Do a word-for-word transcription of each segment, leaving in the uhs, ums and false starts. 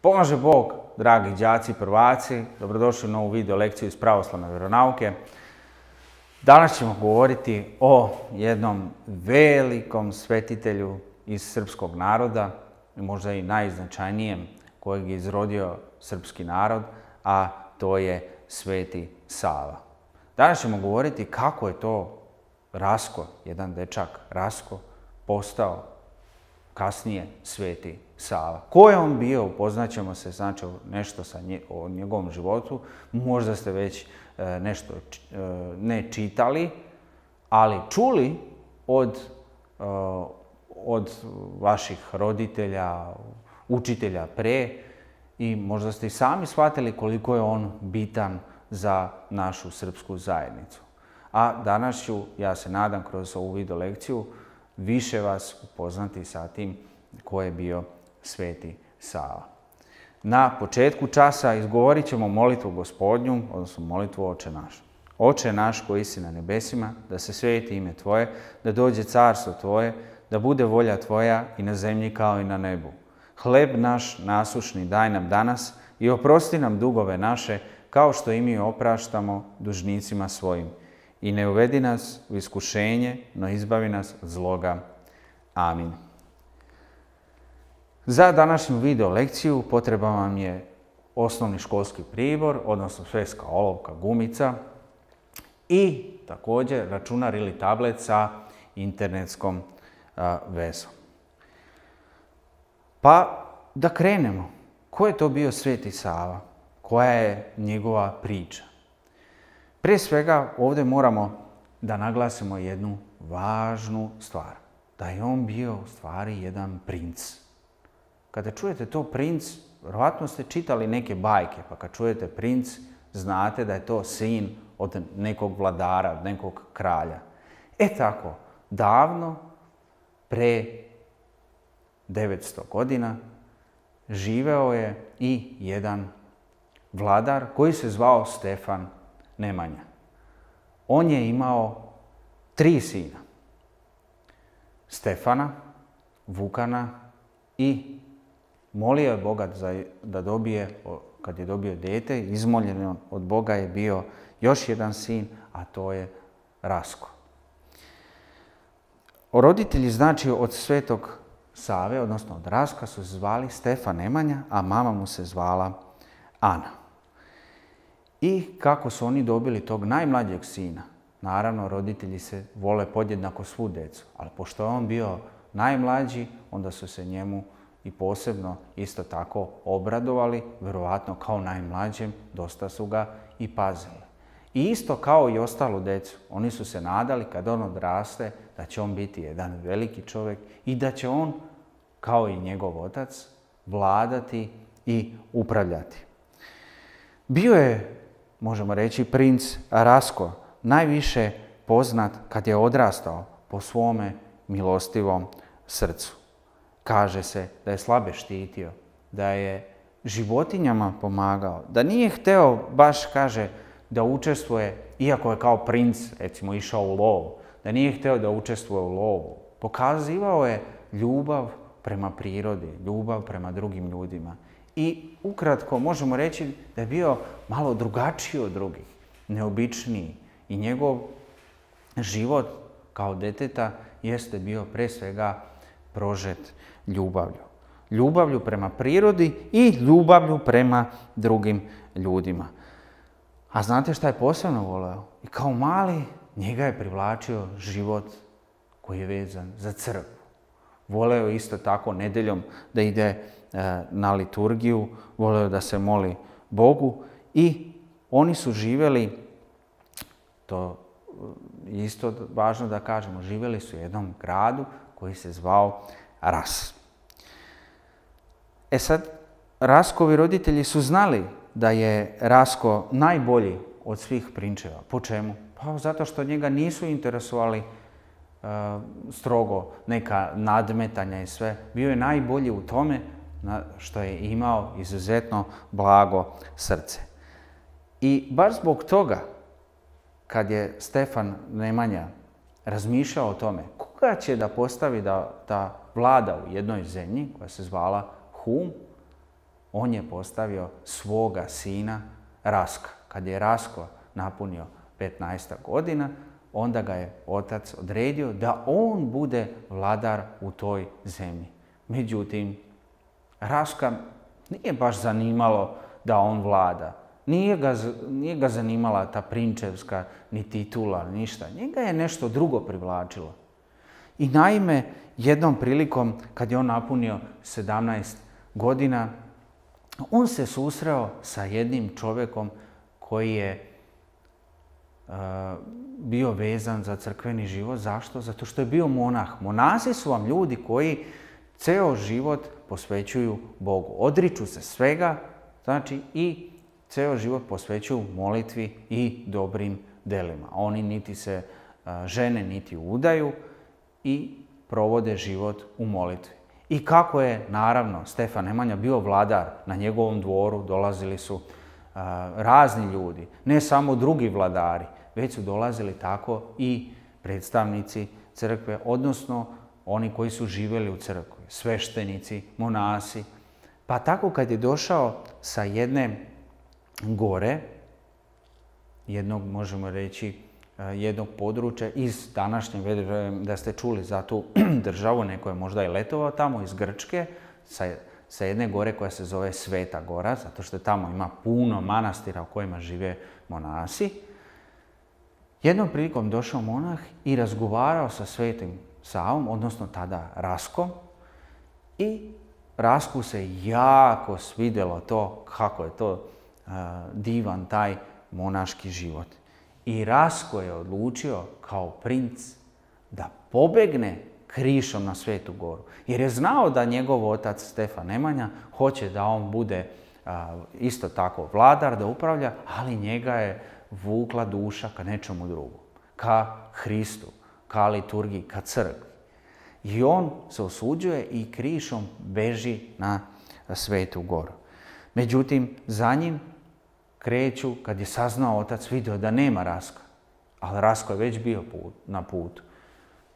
Pomaže Bog, dragi đaci, prvaci, dobrodošli u novu video lekciju iz pravoslavne vjeronauke. Danas ćemo govoriti o jednom velikom svetitelju iz srpskog naroda, možda i najznačajnijem kojeg je izrodio srpski narod, a to je Sveti Sava. Danas ćemo govoriti kako je to Rasko, jedan dečak Rasko, postao kasnije Sveti Sava. Ko je on bio, upoznaćemo se znači nešto sa nje, o njegovom životu. Možda ste već e, nešto e, ne čitali, ali čuli od, e, od vaših roditelja, učitelja pre, i možda ste i sami shvatili koliko je on bitan za našu srpsku zajednicu. A danas ću, ja se nadam, kroz ovu video lekciju više vas upoznati sa tim ko je bio Sveti Sava. Na početku časa izgovorit ćemo molitvu Gospodnju, odnosno molitvu Oče naš. Oče naš koji si na nebesima, da se sveti ime Tvoje, da dođe carstvo Tvoje, da bude volja Tvoja i na zemlji kao i na nebu. Hleb naš nasušni daj nam danas i oprosti nam dugove naše, kao što i mi opraštamo dužnicima svojim. I ne uvedi nas u iskušenje, no izbavi nas od zloga. Amin. Za današnju video lekciju potreban vam je osnovni školski pribor, odnosno sveska olovka, gumica i također računar ili tablet sa internetskom a, vezom. Pa da krenemo. Ko je to bio Sveti Sava? Koja je njegova priča? Prije svega ovdje moramo da naglasimo jednu važnu stvar. Da je on bio u stvari jedan princ. Kada čujete to princ, vjerojatno ste čitali neke bajke, pa kad čujete princ, znate da je to sin od nekog vladara, od nekog kralja. E tako, davno, pre devetsto godina, živeo je i jedan vladar koji se zvao Stefan Nemanja. On je imao tri sina. Stefana, Vukana i molio je Boga da dobije, kad je dobio dete, izmoljen od Boga je bio još jedan sin, a to je Rasko. Roditelji, znači, od Svetog Save, odnosno od Raska, su se zvali Stefan Nemanja, a mama mu se zvala Ana. I kako su oni dobili tog najmlađeg sina? Naravno, roditelji se vole podjednako svu decu, ali pošto je on bio najmlađi, onda su se njemu i posebno isto tako obradovali, vjerovatno kao najmlađem, dosta su ga i pazili. I isto kao i ostalu decu, oni su se nadali kad on odraste da će on biti jedan veliki čovjek i da će on, kao i njegov otac, vladati i upravljati. Bio je, možemo reći, princ Rasko, najviše poznat kad je odrastao po svome milostivom srcu. Kaže se da je slabe štitio, da je životinjama pomagao, da nije hteo baš, kaže, da učestvuje, iako je kao princ, recimo, išao u lov, da nije hteo da učestvuje u lovu. Pokazivao je ljubav prema prirodi, ljubav prema drugim ljudima. I ukratko možemo reći da je bio malo drugačiji od drugih, neobičniji. I njegov život kao deteta jeste bio pre svega prožet ljubavlju. Ljubavlju prema prirodi i ljubavlju prema drugim ljudima. A znate šta je posebno voleo? I kao mali njega je privlačio život koji je vezan za crkvu. Voleo isto tako nedeljom da ide e, na liturgiju, voleo da se moli Bogu i oni su živjeli, to je isto važno da kažemo, živjeli su u jednom gradu koji se zvao Ras. E sad, Raskovi roditelji su znali da je Rasko najbolji od svih prinčeva. Po čemu? Pa zato što njega nisu interesovali uh, strogo neka nadmetanja i sve. Bio je najbolji u tome što je imao izuzetno blago srce. I baš zbog toga, kad je Stefan Nemanja razmišljao o tome koga će da postavi da, da vlada u jednoj zemlji koja se zvala Hum, on je postavio svoga sina Raska. Kad je Rasko napunio petnaest godina, onda ga je otac odredio da on bude vladar u toj zemlji. Međutim, Raska nije baš zanimalo da on vlada. Nije ga, nije ga zanimala ta prinčevska ni titula, ništa. Njega je nešto drugo privlačilo. I naime, jednom prilikom, kad je on napunio sedamnaest godina, on se susreo sa jednim čovjekom koji je uh, bio vezan za crkveni život. Zašto? Zato što je bio monah. Monasi su vam ljudi koji ceo život posvećuju Bogu. Odriču se svega, znači i ceo život posvećuju molitvi i dobrim delima. Oni niti se uh, žene, niti udaju i provode život u molitvi. I kako je, naravno, Stefan Nemanja bio vladar, na njegovom dvoru dolazili su uh, razni ljudi, ne samo drugi vladari, već su dolazili tako i predstavnici crkve, odnosno oni koji su živjeli u crkvi, sveštenici, monasi. Pa tako kad je došao sa jedne gore, jednog, možemo reći, jednog područja iz današnje, vjerujem da ste čuli za tu državu, neko je možda i letovao tamo iz Grčke, sa, sa jedne gore koja se zove Sveta Gora, zato što tamo ima puno manastira u kojima žive monasi. Jednom prilikom došao monah i razgovarao sa Svetim Savom, odnosno tada Raskom, i Rasku se jako svidjelo to, kako je to uh, divan taj monaški život. I Rasko je odlučio kao princ da pobegne krišom na Svetu Goru. Jer je znao da njegov otac Stefan Nemanja hoće da on bude a, isto tako vladar, da upravlja, ali njega je vukla duša ka nečemu drugom. Ka Hristu, ka liturgiji, ka crkvi. I on se osuđuje i krišom beži na Svetu Goru. Međutim, za njim kreću, kad je saznao otac, vidio da nema Raska, ali Rasko je već bio put, na putu.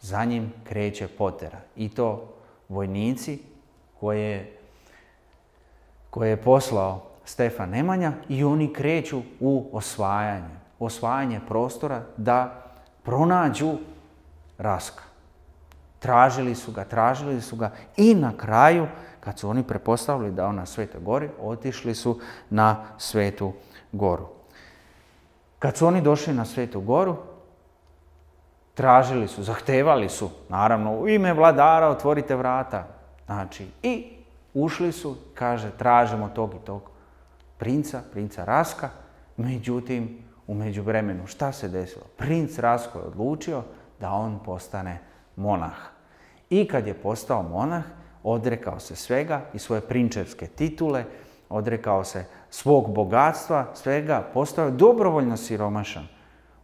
Za njim kreće potera. I to vojnici koje, koje je poslao Stefan Nemanja i oni kreću u osvajanje. Osvajanje prostora da pronađu Raska. Tražili su ga, tražili su ga i na kraju, kad su oni prepostavili da on na Svetoj Gori, otišli su na Svetu Goru. Kad su oni došli na Svetu Goru, tražili su, zahtevali su, naravno, u ime vladara otvorite vrata. Znači, i ušli su, kaže, tražimo tog i tog princa, princa Raska. Međutim, u međuvremenu, šta se desilo? Princ Rasko je odlučio da on postane monah. I kad je postao monah, odrekao se svega i svoje prinčevske titule, odrekao se svog bogatstva, svega, postao je dobrovoljno siromašan.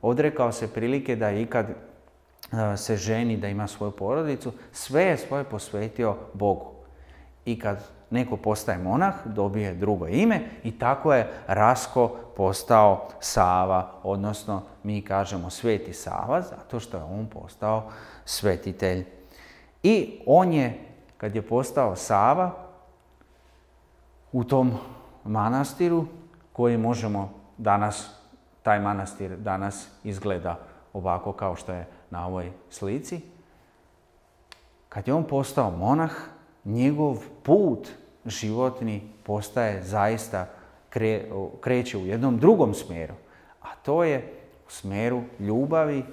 Odrekao se prilike da ikad se ženi, da ima svoju porodicu, sve je svoje posvetio Bogu. I kad neko postaje monah, dobije drugo ime i tako je Rasko postao Sava, odnosno mi kažemo Sveti Sava, zato što je on postao svetitelj. I on je, kad je postao Sava, u tom manastiru, koji možemo danas, taj manastir danas izgleda ovako kao što je na ovoj slici. Kad je on postao monah, njegov put životni postaje zaista, kre, kreće u jednom drugom smjeru. A to je u smjeru ljubavi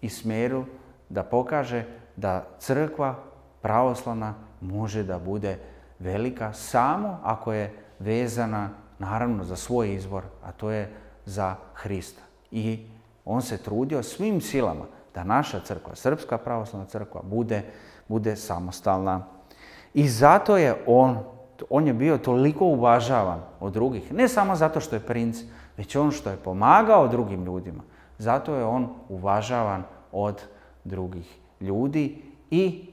i smjeru da pokaže da crkva pravoslavna može da bude velika samo ako je vezana naravno za svoj izvor, a to je za Hrista. I on se trudio svim silama da naša crkva, Srpska pravoslavna crkva, bude, bude samostalna. I zato je on, on je bio toliko uvažavan od drugih, ne samo zato što je princ, već on što je pomagao drugim ljudima. Zato je on uvažavan od drugih ljudi i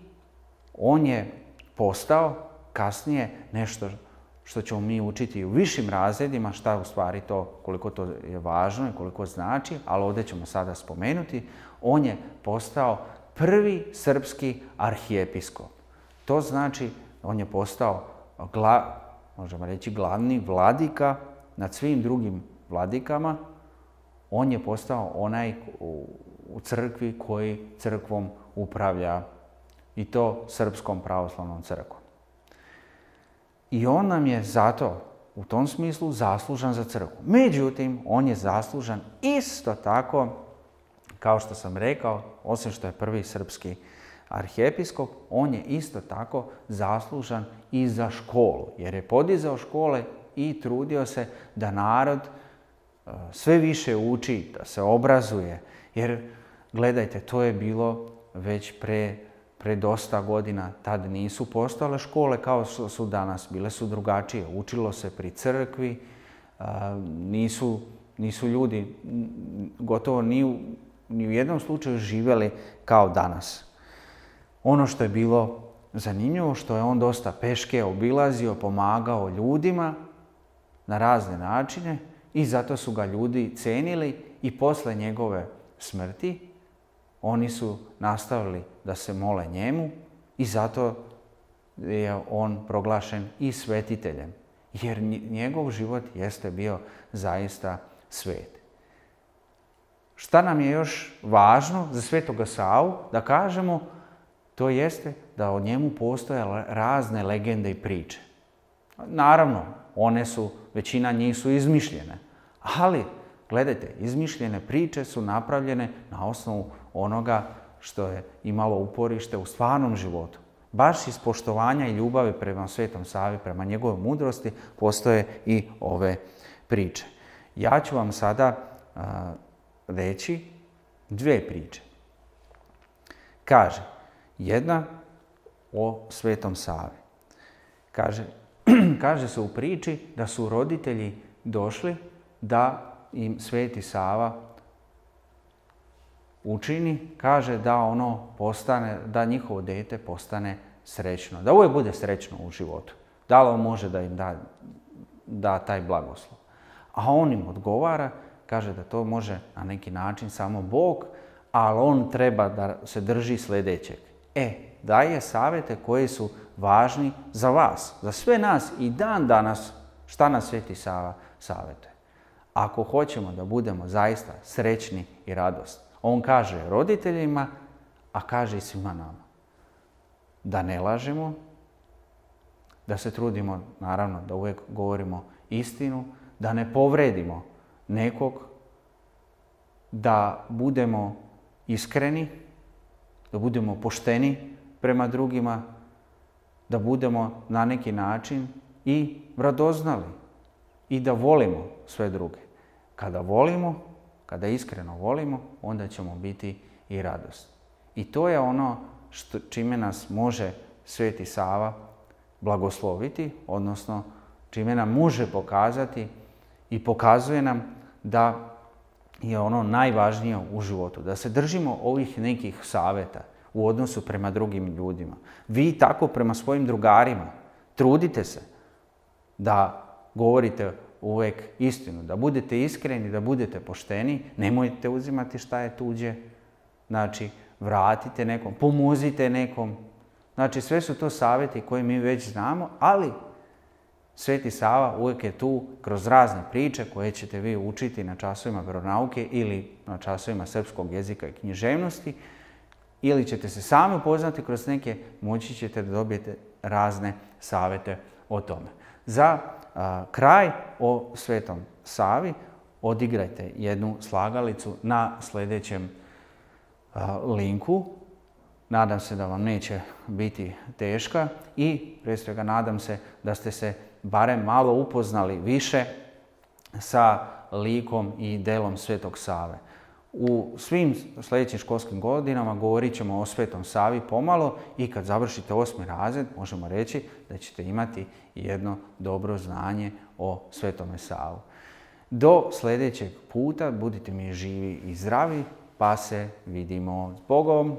on je postao kasnije nešto što ćemo mi učiti u višim razredima, šta u stvari to, koliko to je važno i koliko znači, ali ovdje ćemo sada spomenuti, on je postao prvi srpski arhijepiskop. To znači, on je postao gla, možemo reći glavni vladika nad svim drugim vladikama. On je postao onaj u crkvi koji crkvom upravlja, i to Srpskom pravoslavnom crkvom. I on nam je zato u tom smislu zaslužan za crkvu. Međutim, on je zaslužan isto tako, kao što sam rekao, osim što je prvi srpski arhijepiskop, on je isto tako zaslužan i za školu, jer je podizao škole i trudio se da narod sve više uči, da se obrazuje. Jer, gledajte, to je bilo već pre, pre dosta godina. Tad nisu postojale škole kao što su danas. Bile su drugačije. Učilo se pri crkvi. Nisu, nisu ljudi gotovo ni u, ni u jednom slučaju živjeli kao danas. Ono što je bilo zanimljivo, što je on dosta peške obilazio, pomagao ljudima na razne načine, i zato su ga ljudi cenili, i posle njegove smrti oni su nastavili da se mole njemu, i zato je on proglašen i svetiteljem, jer njegov život jeste bio zaista svet. Šta nam je još važno za Svetoga Savu da kažemo? To jeste da o njemu postoje razne legende i priče. Naravno, one su, većina njih su izmišljene, ali gledajte, izmišljene priče su napravljene na osnovu onoga što je imalo uporište u stvarnom životu. Baš iz poštovanja i ljubavi prema Svetom Savi, prema njegovoj mudrosti, postoje i ove priče. Ja ću vam sada a, reći dvije priče. Kaže, jedna o Svetom Savi. Kaže, kaže se u priči da su roditelji došli da im Sveti Sava učini, kaže da ono postane, da njihovo dete postane srećno, da uvijek bude srećno u životu. Da li on može da im da, da taj blagoslov? A on im odgovara, kaže da to može na neki način samo Bog, ali on treba da se drži sljedećeg. E, daje savjete koji su važni za vas, za sve nas i dan danas. Šta nas Sveti Sava savjetuje? Ako hoćemo da budemo zaista srećni i radosni, on kaže roditeljima, a kaže i svima nama. Da ne lažemo, da se trudimo, naravno, da uvijek govorimo istinu, da ne povredimo nekog, da budemo iskreni, da budemo pošteni prema drugima, da budemo na neki način i radoznali i da volimo sve druge. Kada volimo, kada iskreno volimo, onda ćemo biti i radosni. I to je ono što, čime nas može Sveti Sava blagosloviti, odnosno čime nam može pokazati i pokazuje nam da je ono najvažnije u životu. Da se držimo ovih nekih savjeta u odnosu prema drugim ljudima. Vi tako prema svojim drugarima trudite se da govorite uvijek istinu, da budete iskreni, da budete pošteni, nemojte uzimati šta je tuđe, znači vratite nekom, pomozite nekom. Znači sve su to savjeti koje mi već znamo, ali Sveti Sava uvijek je tu kroz razne priče koje ćete vi učiti na časovima vjeronauke ili na časovima srpskog jezika i književnosti, ili ćete se sami upoznati kroz neke, moći ćete da dobijete razne savjete o tome. Za a, kraj o Svetom Savi odigrajte jednu slagalicu na sljedećem a, linku. Nadam se da vam neće biti teška i prije svega nadam se da ste se barem malo upoznali više sa likom i delom Svetog Save. U svim sljedećim školskim godinama govorit ćemo o Svetom Savi pomalo i kad završite osmi razred možemo reći da ćete imati jedno dobro znanje o Svetome Savu. Do sljedećeg puta budite mi živi i zdravi, pa se vidimo s Bogom.